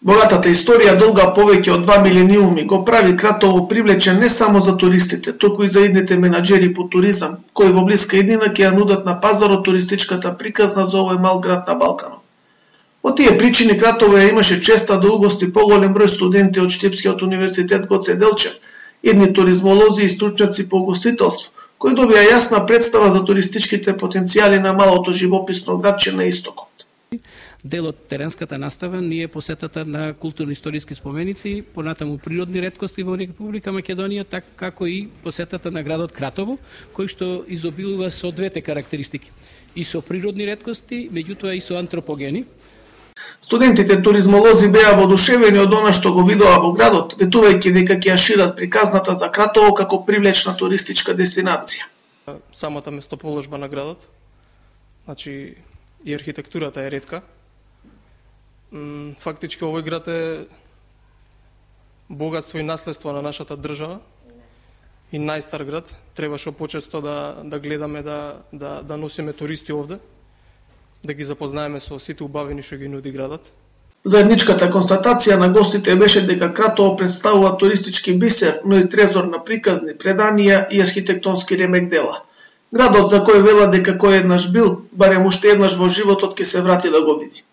Богатата историја, долга повеќе од 2 милениуми, го прави Кратово привлечен не само за туристите, туку и за идните менаџери по туризам, кои во блиска иднина ќе ја нудат на пазарот туристичката приказна за овој мал град на Балканот. Од тие причини Кратово ја имаше честа да угости поголем број студенти од Штипскиот универзитет Гоце Делчев, идни туризмолози и стручњаци по угостителство, кои добија јасна представа за туристичките потенцијали на малото живописно градче на истокот. Дел од теренската настава ни е посетата на културно-историски споменици, понатаму природни реткости во Република Македонија, така како и посетата на градот Кратово, кој што изобилува со двете карактеристики, и со природни реткости, меѓутоа и со антропогени. Студентите туризмолози беа воодушевени од она што го видоа во градот, ветувајќи дека ќе ја шират приказната за Кратово како привлечна туристичка дестинација. Самата местоположба на градот, значи и архитектурата е ретка. Фактички овој град е богатство и наследство на нашата држава и најстар град. Требаше почесто да гледаме да носиме туристи овде, да ги запознаеме со сите убавини што ги нуди градот. Заедничката констатација на гостите беше дека Кратово представува туристички бисер, но и трезор на приказни, преданија и архитектонски ремек дела. Градот за кој велат дека кој еднаш бил, барем уште еднаш во животот ќе се врати да го види.